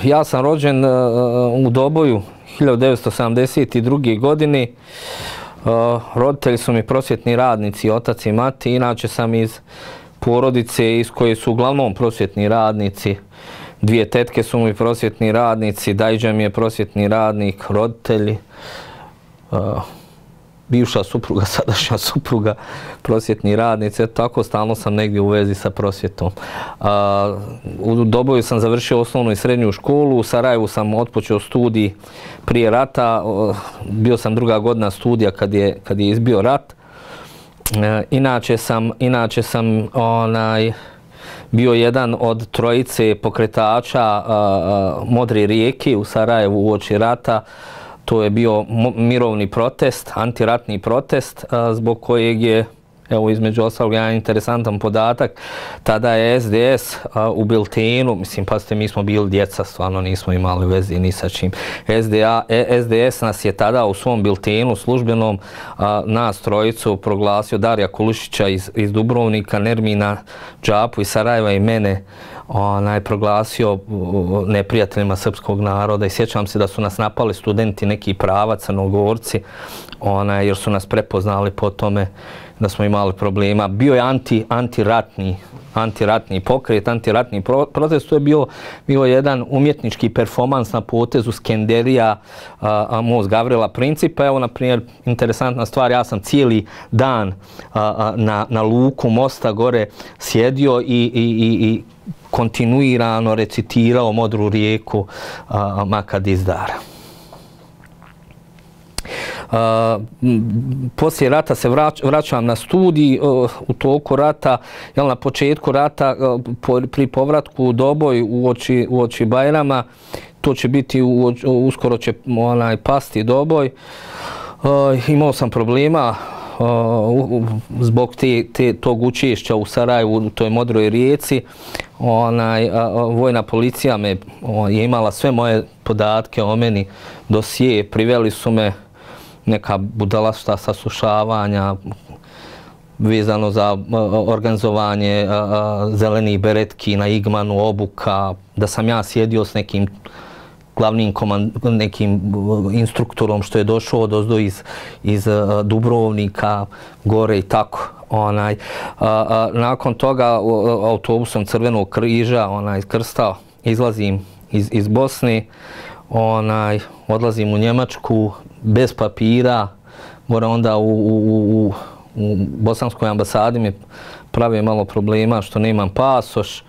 Ja sam rođen u Doboju 1972. godine. Roditelji su mi prosvjetni radnici, otac i mati. Inače sam iz porodice iz koje su uglavnom prosvjetni radnici. Dvije tetke su mi prosvjetni radnici, dajđa mi je prosvjetni radnik, roditelji, bivša supruga, sadašnja supruga, prosvjetni radnici. Tako stalno sam negdje u vezi sa prosvjetom. U Doboju sam završio osnovnu i srednju školu, u Sarajevu sam otpočeo studij prije rata, bio sam druga godina studija kad je izbio rat. Inače sam bio jedan od trojice pokretača Modre rijeke u Sarajevu uoči rata. To je bio mirovni protest, antiratni protest, zbog kojeg je, evo između ostalog, jedan interesantan podatak. Tada je SDS u biltenu, mislim, pazite, mi smo bili djeca, stvarno nismo imali veze ni sa čim. SDS nas je tada u svom biltenu službenom nas trojicu proglasio, Darija Kulušića iz Dubrovnika, Nermina Džapu iz Sarajeva i mene, proglasio neprijateljima srpskog naroda i sjećam se da su nas napali studenti neki prava, Crnogorci, jer su nas prepoznali po tome da smo imali problema. Bio je antiratni pokret, antiratni protest. To je bio jedan umjetnički performans na potezu Skenderija, most Gavrila Principa. Evo, na primjer, interesantna stvar, ja sam cijeli dan na luku mosta gore sjedio i kontinuirano recitirao Modru rijeku Makadizdara. Poslije rata se vraćam na studij. U toku rata, na početku rata, pri povratku u Doboj uoči Bajrama, to će biti, uskoro će pasti Doboj. Imao sam problema zbog tog učešća u Sarajevu, u toj Modroj rijeci. Vojna policija je imala sve moje podatke o meni, dosije, priveli su me, neka budalašta saslušavanja vezano za organizovanje zelenih beretki na Igmanu, obuka, da sam ja sjedio s nekim glavnim nekim instruktorom što je došao odozdo iz Dubrovnika, gore i tako. Nakon toga autobusom Crvenog križa Krsta izlazim iz Bosne, odlazim u Njemačku bez papira, gore onda u bosanskoj ambasadi mi prave malo problema što nemam pasoš,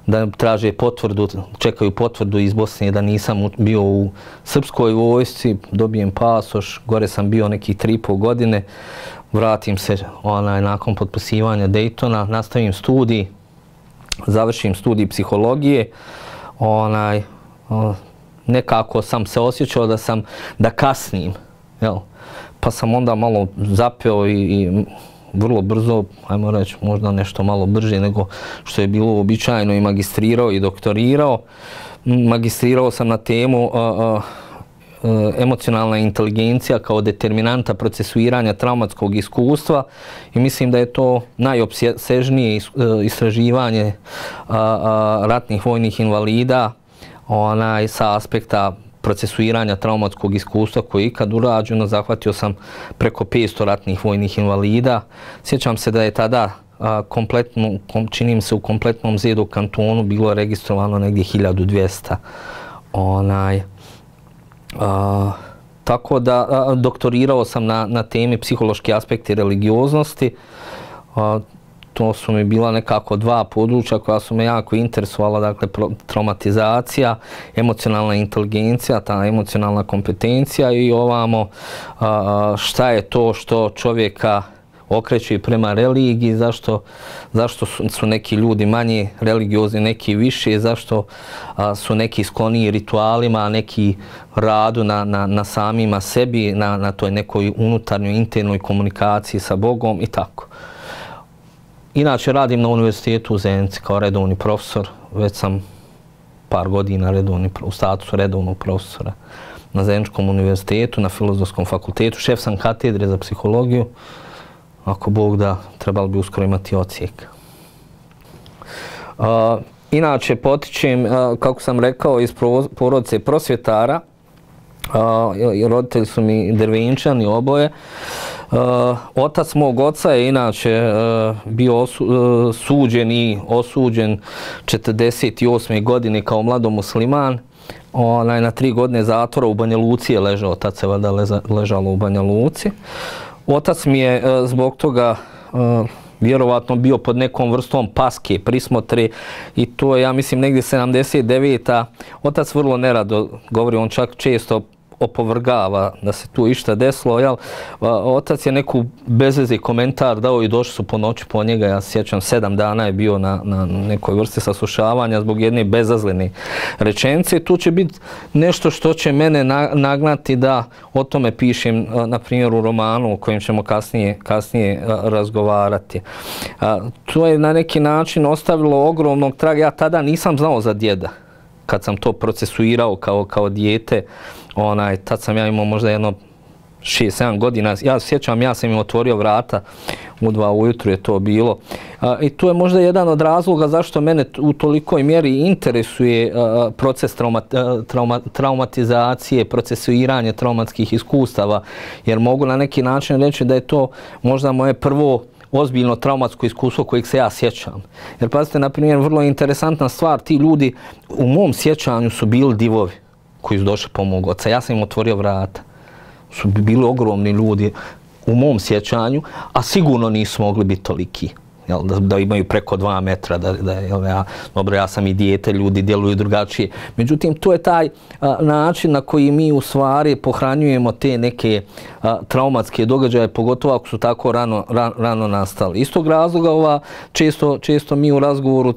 da traže potvrdu, čekaju potvrdu iz Bosne da nisam bio u srpskoj vojsci, dobijem pasoš, gore sam bio nekih 3,5 godine, vratim se nakon potpisivanja Daytona, nastavim studij, završim studij psihologije, nekako sam se osjećao da kasnim, pa sam onda malo zapeo i vrlo brzo, ajmo reći, možda nešto malo brže nego što je bilo uobičajeno, i magistrirao i doktorirao. Magistrirao sam na temu emocionalna inteligencija kao determinanta procesuiranja traumatskog iskustva i mislim da je to najopsežnije istraživanje ratnih vojnih invalida sa aspekta procesuiranja traumatskog iskustva koje je ikad urađeno. Zahvatio sam preko 500 ratnih vojnih invalida. Sjećam se da je tada čini mi se u kompletnom Zedu kantonu bilo registrovano negdje 1200. Tako da doktorirao sam na temi psihološki aspekti religioznosti. To su mi bila nekako dva područja koja su me jako interesovala, dakle traumatizacija, emocionalna inteligencija, ta emocionalna kompetencija i ovamo šta je to što čovjeka okreće prema religiji, zašto su neki ljudi manje religiozni, neki više, zašto su neki skloniji ritualima, a neki radu na samima sebi, na toj nekoj unutarnjoj, internoj komunikaciji sa Bogom i tako. Inače, radim na univerzitetu u Zenici kao redovni profesor. Već sam par godina u statusu redovnog profesora na Zeničkom univerzitetu, na Filozofskom fakultetu. Šef sam katedre za psihologiju. Ako Bog da, trebalo bi uskoro imati ocijek. Inače, potičem, kako sam rekao, iz porodice prosvjetara. Roditelji su mi Drvenčani oboje. Otac mog oca je inače bio suđen i osuđen 48. godine kao mladomusliman. Na 3 godine zatvora u Banja Luci je ležao, tad se valjda ležalo u Banja Luci. Otac mi je zbog toga vjerovatno bio pod nekom vrstom paske, prismotre i to je, ja mislim, negdje 79. Otac vrlo nerado govori, on čak često opovrgava da se tu išta desilo, jel? Otac je neku bezvezi komentar dao i došli su po noći po njega, ja se sjećam 7 dana je bio na nekoj vrsti saslušavanja zbog jedne bezazlene rečenice. Tu će biti nešto što će mene nagnati da o tome pišem, na primjer, u romanu o kojem ćemo kasnije razgovarati. To je na neki način ostavilo ogromnog traga. Ja tada nisam znao za djeda kad sam to procesuirao kao dijete. Tad sam ja imao možda jedno 6-7 godina. Ja se sjećam, ja sam im otvorio vrata u 2 ujutru je to bilo. I to je možda jedan od razloga zašto mene u tolikoj mjeri interesuje proces traumatizacije, procesuiranje traumatskih iskustava, jer mogu na neki način reći da je to možda moje prvo ozbiljno traumatsko iskustvo kojeg se ja sjećam. Jer pazite, na primjer, vrlo interesantna stvar, ti ljudi u mom sjećanju su bili divovi koji su došli po mog oca. Ja sam im otvorio vrata. Su bili ogromni ljudi u mom sjećanju, a sigurno nisu mogli biti toliki. Da imaju preko 2 metra, dobro, ja sam i dijete, ljudi djeluju drugačije. Međutim, to je taj način na koji mi u stvari pohranjujemo te neke traumatske događaje, pogotovo ako su tako rano nastali. Iz tog razloga često mi u razgovoru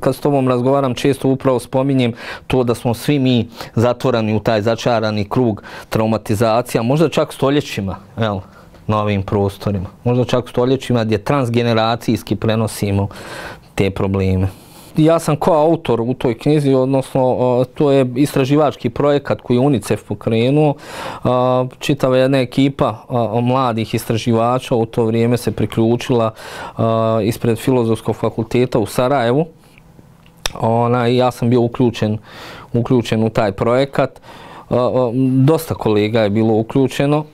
kad s tobom razgovaram, često upravo spominjem to da smo svi mi zatvorani u taj začarani krug traumatizacija, možda čak stoljećima, na ovim prostorima. Možda čak stoljećima gdje transgeneracijski prenosimo te probleme. Ja sam kao autor u toj knjizi, odnosno to je istraživački projekat koji je UNICEF pokrenuo. Čitava jedna ekipa mladih istraživača u to vrijeme se priključila ispred Filozofskog fakulteta u Sarajevu. Ja sam bio uključen u taj projekat. Dosta kolega je bilo uključeno.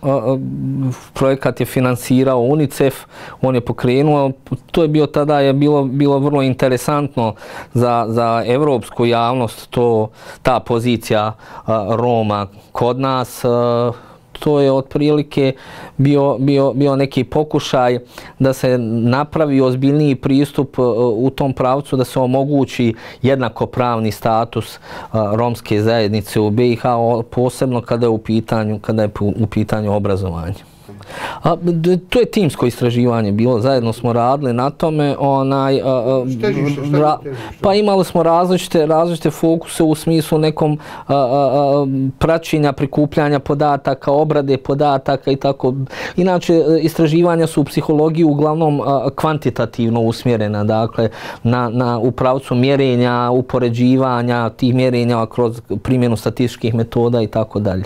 Projekat je finansirao UNICEF, on je pokrenuo. To je bio tada bilo vrlo interesantno za evropsku javnost, ta pozicija Roma kod nas. To je otprilike bio neki pokušaj da se napravi ozbiljniji pristup u tom pravcu, da se omogući jednakopravni status romske zajednice u BiH, posebno kada je u pitanju obrazovanje. To je timsko istraživanje bilo, zajedno smo radili na tome. Pa imali smo različite fokuse u smislu nekom praćenja, prikupljanja podataka, obrade podataka i tako. Inače, istraživanja su u psihologiji uglavnom kvantitativno usmjerena, dakle, u pravcu mjerenja, upoređivanja tih mjerenja kroz primjenu statističkih metoda i tako dalje.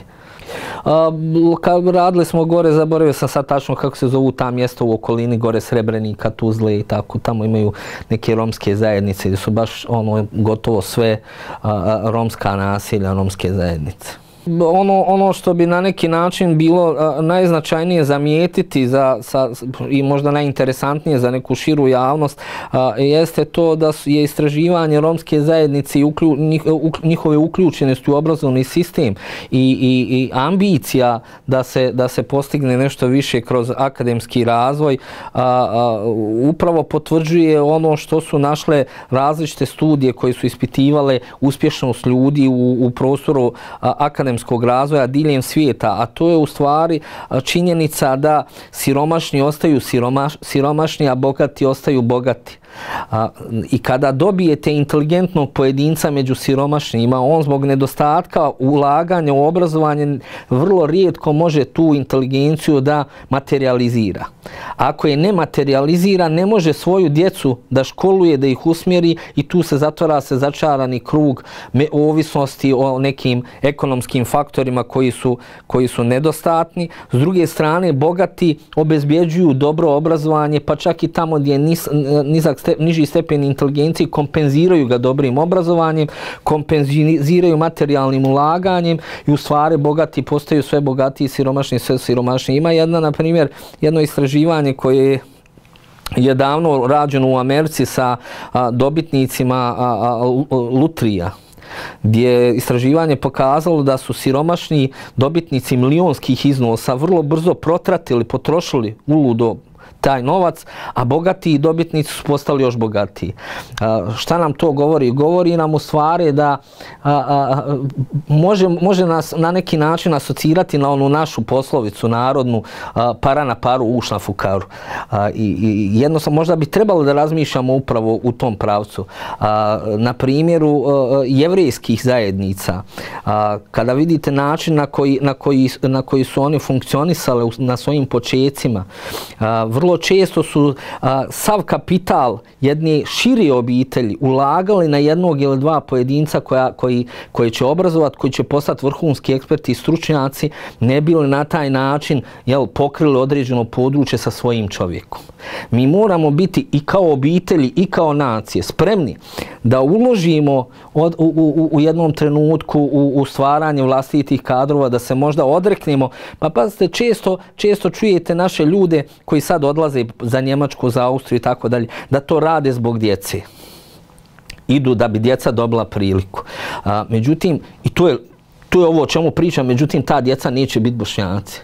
Radili smo gore, zaboravio sam sad tačno kako se zovu ta mjesta u okolini, gore Srebrenika, Tuzle i tako. Tamo imaju neke romske zajednice gdje su baš gotovo sve romska naselja, romske zajednice. Ono što bi na neki način bilo najznačajnije zamijetiti i možda najinteresantnije za neku širu javnost jeste to da je istraživanje romske zajednice i njihove uključenosti u obrazovni sistem i ambicija da se postigne nešto više kroz akademski razvoj upravo potvrđuje ono što su našle različite studije koje su ispitivale uspješnost ljudi u prostoru akademskog razvoja diljem svijeta, a to je u stvari činjenica da siromašni ostaju siromašni, a bogati ostaju bogati. I kada dobijete inteligentnog pojedinca među siromašnjima, on zbog nedostatka ulaganja u obrazovanje vrlo rijetko može tu inteligenciju da materializira. Ako je ne materializira, ne može svoju djecu da školuje, da ih usmjeri i tu se zatvara začarani krug ovisnosti o nekim ekonomskim faktorima koji su nedostatni. S druge strane, bogati obezbjeđuju dobro obrazovanje, pa čak i tamo gdje je nizak niži stepen inteligencije, kompenziraju ga dobrim obrazovanjem, kompenziraju materijalnim ulaganjem i u stvari bogati postaju sve bogatiji, siromašni sve siromašniji. Ima jedno istraživanje koje je davno rađeno u Americi sa dobitnicima lutrija, gdje je istraživanje pokazalo da su siromašni dobitnici milionskih iznosa vrlo brzo protratili, potrošili uludo taj novac, a bogati dobitnici su postali još bogatiji. Šta nam to govori? Govori nam u stvari da može nas na neki način asocirati na onu našu poslovicu narodnu para na paru, uš na fukaru. I jednostavno možda bi trebalo da razmišljamo upravo u tom pravcu. Na primjeru jevrejskih zajednica, kada vidite način na koji su oni funkcionisali na svojim počecima, vrlo često su sav kapital jedne šire obitelji ulagali na jednog ili dva pojedinca koji će obrazovati, koji će postati vrhunski eksperti i stručnjaci, ne bili na taj način pokrili određeno područje sa svojim čovjekom. Mi moramo biti i kao obitelji i kao nacije spremni da uložimo u jednom trenutku u stvaranje vlastitih kadrova, da se možda odreknemo. Pa pazite, često čujete naše ljude koji sad odlaze za Njemačku, za Austriju i tako dalje, da to rade zbog djece. Idu da bi djeca dobila priliku. Međutim, i to je ovo o čemu pričam, međutim, ta djeca neće biti Bošnjaci.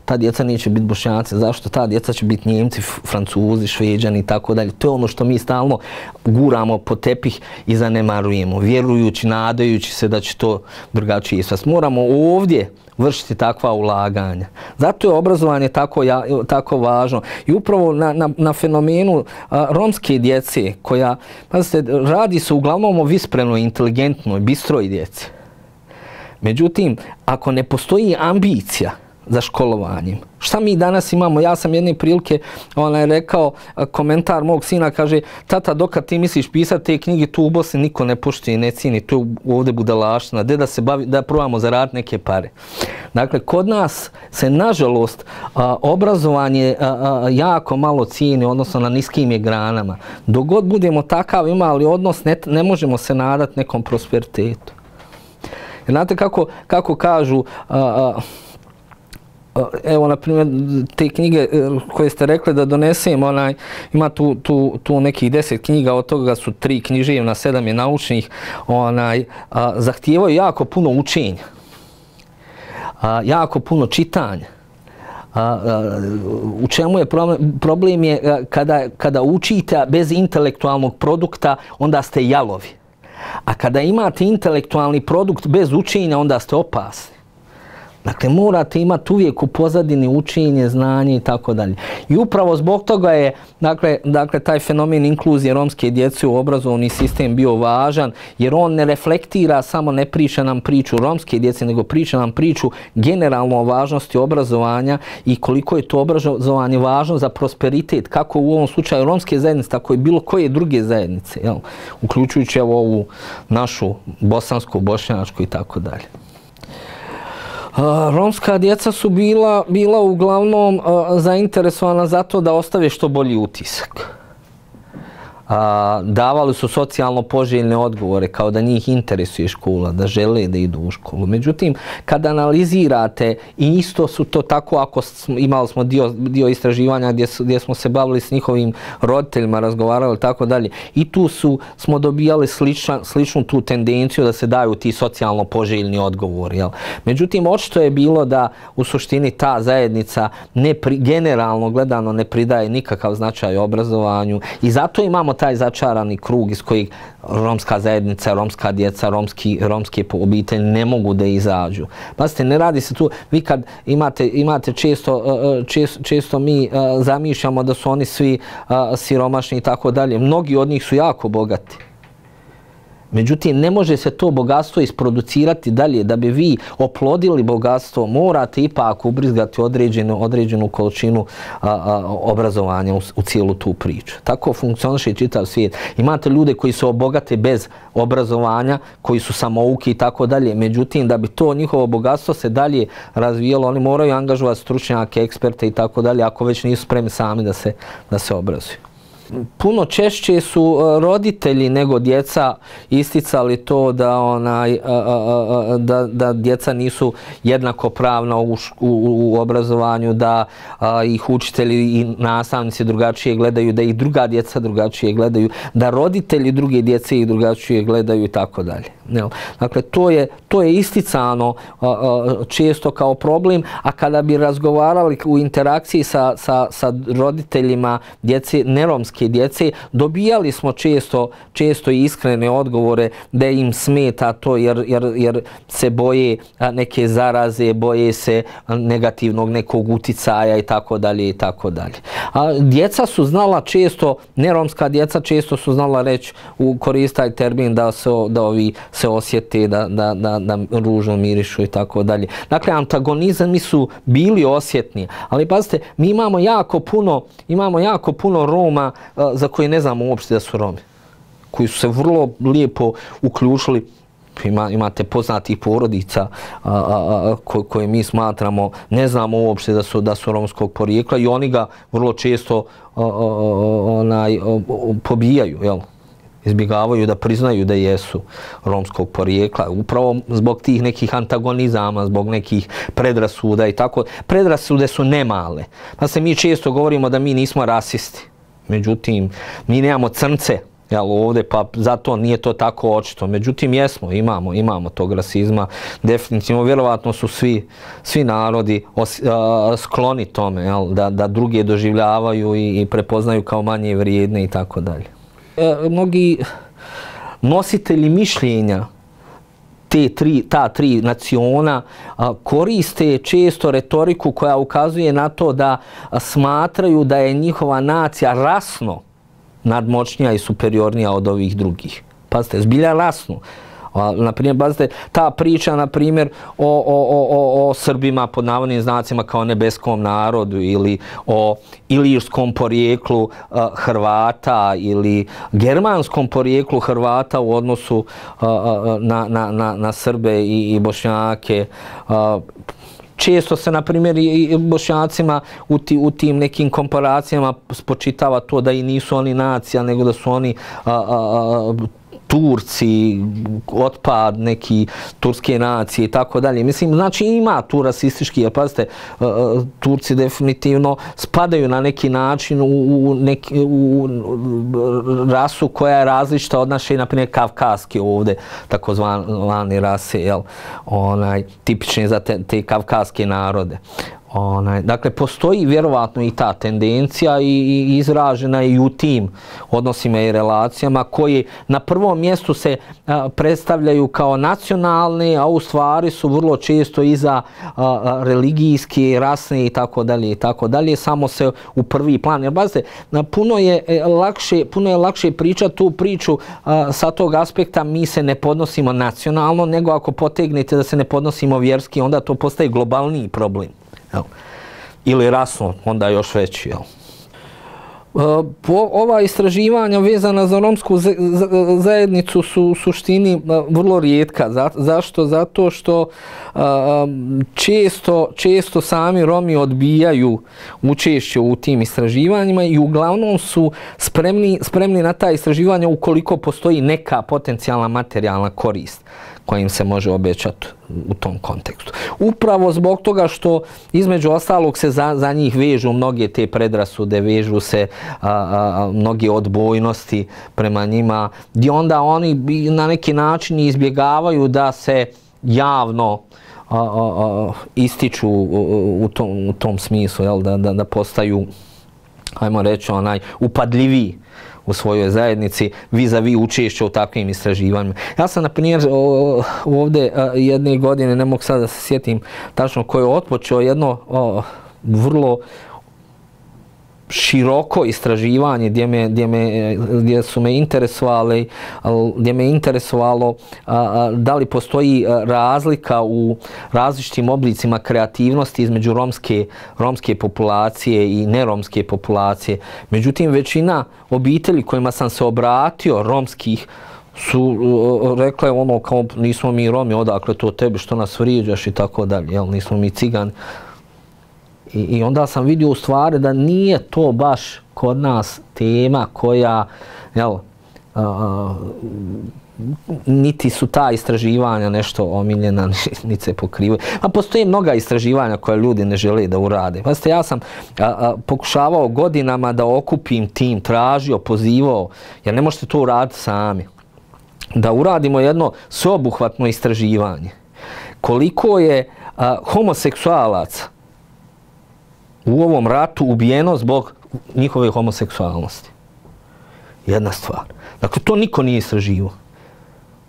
Ta djeca neće biti Bošnjaci. Zašto? Ta djeca će biti Njemci, Francuzi, Šveđani i tako dalje. To je ono što mi stalno guramo po tepih i zanemarujemo, vjerujući, nadajući se da će to drugačije ispasti. Moramo ovdje vršiti takva ulaganja. Zato je obrazovanje tako važno. I upravo na fenomenu romske djece, koja, pazite, radi se uglavnom o visprenoj, inteligentnoj, bistroj djeci. Međutim, ako ne postoji ambicija za školovanjem. Šta mi danas imamo? Ja sam jedne prilike rekao, komentar mog sina, kaže, tata, dokad ti misliš pisati te knjige, tu u Bosni niko ne poštuje i ne cijeni, to je ovdje budalaština, da probamo zaraditi neke pare. Dakle, kod nas se, nažalost, obrazovanje jako malo cijeni, odnosno na niskim je granama. Dok god budemo takav imali odnos, ne možemo se nadati nekom prosperitetu. Znate kako kažu, evo, na primjer, te knjige koje ste rekli da donesem, ima tu nekih 10 knjiga, od toga su 3 književna, 7 je naučnih, zahtijevaju jako puno učenja, jako puno čitanja. U čemu je problem? Problem je kada učite bez intelektualnog produkta, onda ste jalovi. A kada imate intelektualni produkt bez učenja, onda ste opasni. Dakle, morate imati uvijek u pozadini učenje, znanje i tako dalje. I upravo zbog toga je, dakle, taj fenomen inkluzije romske djece u obrazovni sistem bio važan, jer on ne reflektira, samo ne priča nam priču romske djece, nego priča nam priču generalno o važnosti obrazovanja i koliko je to obrazovanje važno za prosperitet, kako u ovom slučaju romske zajednice, tako i bilo koje druge zajednice, uključujući ovu našu bosansku, bošnjačku i tako dalje. Romska djeca su bila uglavnom zainteresovana za to da ostave što bolji utisak. Davali su socijalno poželjne odgovore, kao da njih interesuje škola, da žele da idu u školu. Međutim, kada analizirate, i isto su to tako, ako imali smo dio istraživanja gdje smo se bavili s njihovim roditeljima, razgovarali i tako dalje, i tu smo dobijali sličnu tu tendenciju da se daju ti socijalno poželjni odgovori. Međutim, očito je bilo da u suštini ta zajednica generalno gledano ne pridaje nikakav značaj obrazovanju i zato imamo taj začarani krug iz kojeg romska zajednica, romska djeca, romske obitelji ne mogu da izađu. Pazite, ne radi se tu, vi kad imate često mi zamišljamo da su oni svi siromašni i tako dalje. Mnogi od njih su jako bogati. Međutim, ne može se to bogatstvo isproducirati dalje. Da bi vi oplodili bogatstvo, morate ipak ubrizgati određenu količinu obrazovanja u cijelu tu priču. Tako funkcioniše čitav svijet. Imate ljude koji se obogate bez obrazovanja, koji su samouki i tako dalje. Međutim, da bi to njihovo bogatstvo se dalje razvijalo, oni moraju angažovati stručnjake, eksperte i tako dalje, ako već nisu spremni sami da se obrazuju. puno češće su roditelji nego djeca isticali to da djeca nisu jednakopravna u obrazovanju, da ih učitelji i nastavnici drugačije gledaju, da ih druga djeca drugačije gledaju, da roditelji druge djece ih drugačije gledaju i tako dalje. Dakle, to je isticano često kao problem, a kada bi razgovarali u interakciji sa roditeljima djece, neromske djece, dobijali smo često iskrene odgovore da im smeta to jer se boje neke zaraze, boje se negativnog nekog uticaja i tako dalje i tako dalje. A djeca su znala često, neromska djeca često su znala reći, koristaj termin da ovi se osjete, da ružno mirišu i tako dalje. Dakle, antagonizmi su bili osjetni, ali pazite, mi imamo jako puno Roma za koje ne znamo uopšte da su Romi, koji su se vrlo lijepo uključili. Imate poznatih porodica koje mi smatramo, ne znamo uopšte da su romskog porijekla i oni ga vrlo često pobijaju, jel? Izbjegavaju da priznaju da jesu romskog porijekla, upravo zbog tih nekih antagonizama, zbog nekih predrasuda i tako. Predrasude su nemale. Pa se mi često govorimo da mi nismo rasisti. Međutim, mi nemamo crnce ovdje, pa zato nije to tako očito. Međutim, imamo tog rasizma. Definitivno, vjerovatno su svi narodi skloni tome, da druge doživljavaju i prepoznaju kao manje vrijedne i tako dalje. Mnogi nositelji mišljenja ta tri naciona koriste često retoriku koja ukazuje na to da smatraju da je njihova nacija rasno nadmoćnija i superiornija od ovih drugih. Pazite, zbilja rasno. Naprimjer, pazite, ta priča, naprimjer, o Srbima pod navodnim znacima kao nebeskom narodu ili o ilirskom porijeklu Hrvata ili germanskom porijeklu Hrvata u odnosu na Srbe i Bošnjake. Često se, na primjer, i Bošnjacima u tim nekim komparacijama spočitava to da i nisu oni nacija, nego da su oni Turci, otpad neki turske nacije i tako dalje. Mislim, znači ima tu rasistički, jer pazite, Turci definitivno spadaju na neki način u rasu koja je različita od naše, na primjer, kavkaske ovdje, takozvane rase, tipične za te kavkaske narode. Dakle, postoji vjerovatno i ta tendencija i izražena je i u tim odnosima i relacijama koje na prvom mjestu se predstavljaju kao nacionalne, a u stvari su vrlo često iza religijske, rasne i tako dalje, samo se u prvi plan. Jer bazite, puno je lakše pričati tu priču sa tog aspekta mi se ne podnosimo nacionalno, nego ako potegnete da se ne podnosimo vjerski, onda to postaje globalniji problem. Ili rasno, onda još veći. Ova istraživanja vezana za romsku zajednicu su u suštini vrlo rijetka. Zašto? Zato što često sami Romi odbijaju učešće u tim istraživanjima i uglavnom su spremni na ta istraživanja ukoliko postoji neka potencijalna materijalna korist koja im se može obećati u tom kontekstu. Upravo zbog toga što između ostalog se za njih vežu mnoge te predrasude, vežu se mnoge odbojnosti prema njima, gdje onda oni na neki način izbjegavaju da se javno ističu u tom smislu, da postaju, hajmo reći, upadljiviji u svojoj zajednici vis-a-vis učešća u takvim istraživanjima. Ja sam, na primjer, ovdje jedne godine, ne mogu sad da se sjetim tačno ko je otpočeo jedno vrlo široko istraživanje gdje su me interesovalo da li postoji razlika u različitim oblicima kreativnosti između romske populacije i neromske populacije. Međutim, većina obitelji kojima sam se obratio, romskih, su rekle kao nismo mi Romi, odakle to tebi, što nas vrijeđaš i tako dalje, nismo mi Cigani. I onda sam vidio u stvari da nije to baš kod nas tema koja, jel, niti su ta istraživanja nešto omiljena, niti se pokrivaju. A postoje mnoga istraživanja koje ljudi ne žele da urade. Pazite, ja sam pokušavao godinama da okupim tim, tražio, pozivao, jer ne možete to uraditi sami. Da uradimo jedno sveobuhvatno istraživanje. Koliko je homoseksualaca u ovom ratu ubijeno zbog njihove homoseksualnosti. Jedna stvar. Dakle, to niko nije istraživao.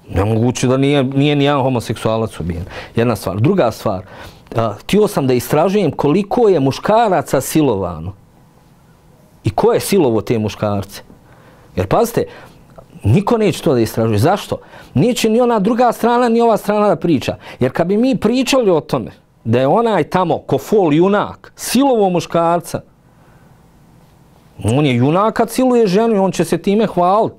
Nemoguće da nije nijedan homoseksualac ubijen. Jedna stvar. Druga stvar. Htio sam da istražujem koliko je muškaraca silovano. I ko je silovo te muškarce. Jer pazite, niko neće to da istražuje. Zašto? Neće ni ona druga strana, ni ova strana da priča. Jer kad bi mi pričali o tome, da je onaj tamo ko fol junak, silovo muškarca, on je junak kad siluje ženu i on će se time hvaliti.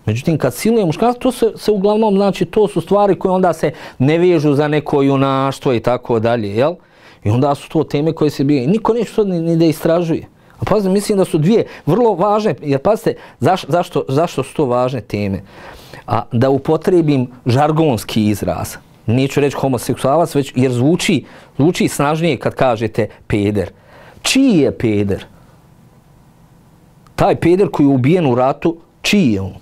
Međutim, kad siluje muškarca, to se uglavnom, znači, to su stvari koje onda se ne vežu za neko junaštvo i tako dalje, jel? I onda su to teme koje se bije. Niko neće to ni da istražuje. A pazite, mislim da su dvije vrlo važne, jer pazite, zašto su to važne teme? Da upotrebim žargonski izraz. Neću reći homoseksualac, već jer zvuči snažnije kad kažete peder. Čiji je peder? Taj peder koji je ubijen u ratu, čiji je on?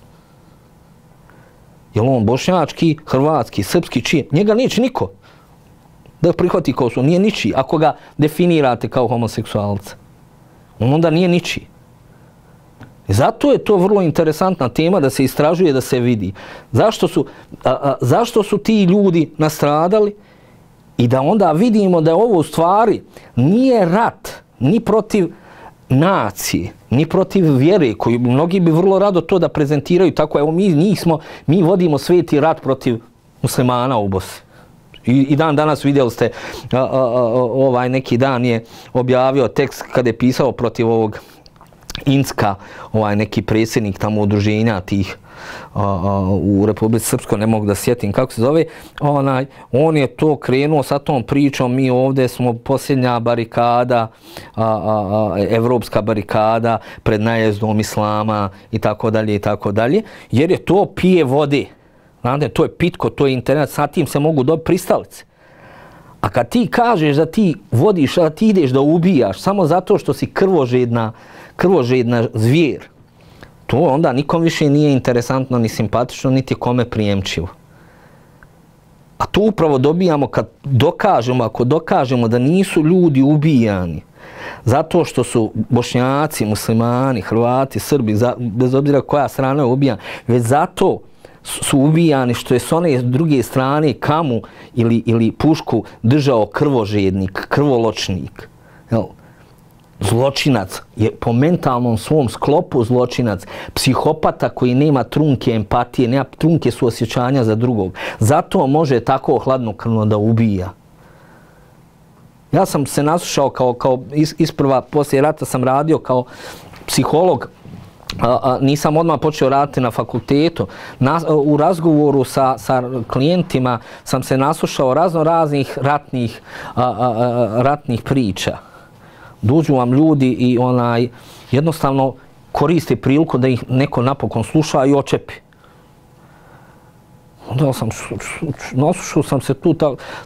Je li on bošnjački, hrvatski, srpski, čiji? Njega neće niko da prihvati kao su. Nije ničiji. Ako ga definirate kao homoseksualca, on onda nije ničiji. Zato je to vrlo interesantna tema da se istražuje, da se vidi. Zašto su ti ljudi nastradali i da onda vidimo da je ovo u stvari nije rat ni protiv nacije, ni protiv vjere, koji mnogi bi vrlo rado to da prezentiraju tako. Evo mi vodimo sveti rat protiv muslimana u Bosni. I danas vidjeli ste, neki dan je objavio tekst kada je pisao protiv ovog Incka, neki predsjednik tamo udruženja tih u Republici Srpskoj, ne mogu da sjetim kako se zove, on je to krenuo sa tom pričom, mi ovdje smo posljednja barikada, evropska barikada pred najezdom islama i tako dalje, jer je to pije vode. Znate, to je pitko, to je internet, sa tim se mogu dobiti pristalice. A kad ti kažeš da ti vodiš, da ti ideš da ubijaš samo zato što si krvožedna zvijer, to onda nikom više nije interesantno, ni simpatično, niti kome prijemčivo. A to upravo dobijamo kad ako dokažemo da nisu ljudi ubijani zato što su Bošnjaci, muslimani, Hrvati, Srbi, bez obzira koja strana je ubijana, već zato su ubijani što je s one druge strane kamu ili pušku držao krvožednik, krvoločnik. Zločinac je po mentalnom svom sklopu zločinac, psihopata koji nema trunke empatije, nema trunke suosjećanja za drugog. Zato može tako hladnokrvno da ubija. Ja sam se naslušao kao isprva, poslije rata sam radio kao psiholog, nisam odmah počeo raditi na fakultetu. U razgovoru sa klijentima sam se naslušao raznih ratnih priča. Dođu vam ljudi i jednostavno koriste priliku da ih neko napokon sluša i očepi. Onda naslušao sam se tu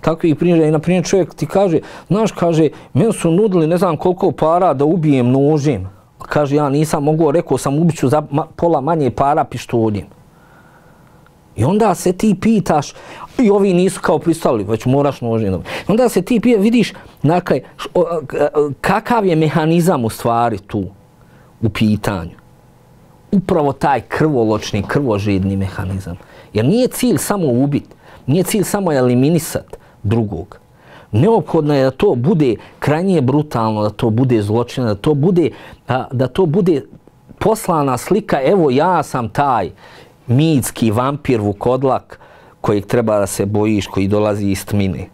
takvih priča i na primjer čovjek ti kaže, znaš, kaže, meni su nudili ne znam koliko para da ubijem nožem. Kaže, ja nisam mogao, rekao sam ubiću za pola manje para pištoljem. I onda se ti pitaš, i ovi nisu kao pristali, već moraš nožem. Onda se ti pitaš, vidiš, kakav je mehanizam u stvari tu u pitanju. Upravo taj krvoločni, krvožedni mehanizam. Jer nije cilj samo ubiti, nije cilj samo eliminisati drugog. Neophodno je da to bude krajnije brutalno, da to bude zločina, da to bude poslana slika, evo ja sam taj mitski vampir vukodlak kojeg treba da se bojiš, koji dolazi iz tmine.